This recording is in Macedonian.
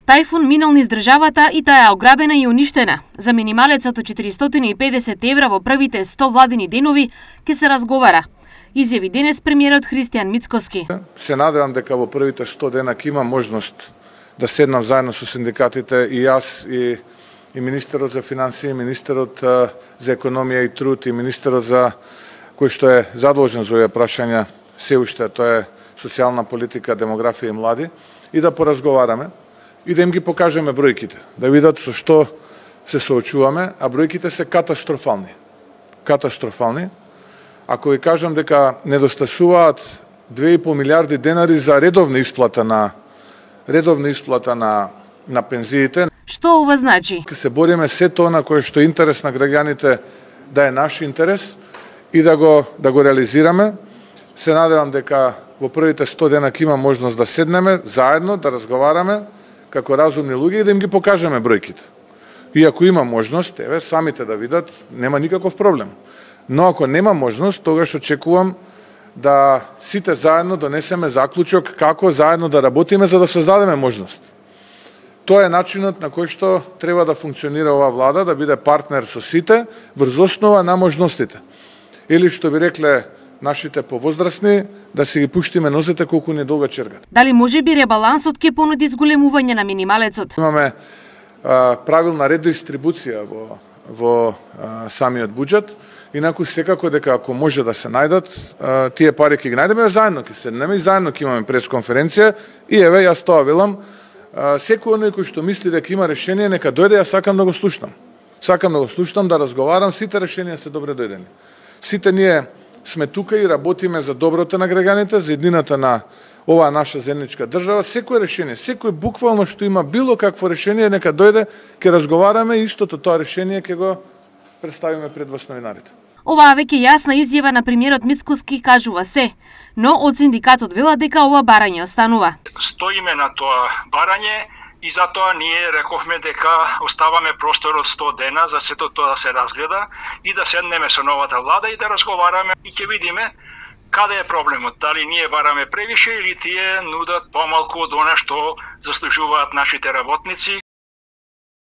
Тајфун минал низ државата и таа е ограбена и уништена. За минималецот од 450 евра во првите 100 владини денови ќе се разговара. Изјави денес премиерот Христијан Мицкоски. Се надевам дека во првите 100 дена ќе има можност да седнам заедно со синдикатите и јас и министерот за финансии, министерот за економија и труд и министерот за кој што е задолжен за овие прашања се уште, тоа е социјална политика, демографија и млади, и да поразговараме и да им ги покажеме бројките, да видат со што се соочуваме, а бројките се катастрофални. Катастрофални. Ако ви кажам дека недостасуваат 2,5 милиарди денари за редовна исплата на пензиите. Што ова значи? Се бориме се тоа на кое што е интерес на граѓаните да е наш интерес и да го реализираме. Се надевам дека во првите 100 дена ќе има можност да седнеме заедно, да разговараме како разумни луѓе и да им ги покажеме бројките. И ако има можност, еве самите да видат, нема никаков проблем. Но ако нема можност, тогаш очекувам да сите заедно донесеме заклучок како заедно да работиме за да создадеме можност. Тоа е начинот на кој што треба да функционира оваа влада, да биде партнер со сите врз основа на можностите. Или што би рекле нашите повозрастни, да си ги пуштиме нозете колку ни долга чергат. Дали може би ребалансот ќе понуди зголемување на минималецот? Имаме правилна редистрибуција во самиот буџет, инаку секако дека ако може да се најдат, тие пари ќе ги најдеме заедно, ќе седнеме и заедно ќе имаме пресконференција и еве јас тоа велам, секој оној кој што мисли дека има решение, нека дојде, јас сакам да го слушнам. Сакам да го слушнам, да разговарам, сите решенија се добре дојдени. Сите ние сме тука и работиме за доброто на граѓаните, за еднината на оваа наша земјичка држава. Секој решение, секој буквално што има било какво решение, нека дојде, ќе разговараме и истото тоа решение ќе го представиме пред вас новинарите. Оваа веќе јасна изјава на премиерот Мицкоски кажува се, но од синдикатот вела дека ова барање останува. Стоиме на тоа барање и затоа ние рековме дека оставаме простор од 100 дена за сето тоа да се разгледа и да седнеме со новата влада и да разговараме и ќе видиме каде е проблемот, дали ние бараме превише или тие нудат помалку од она што заслужуваат нашите работници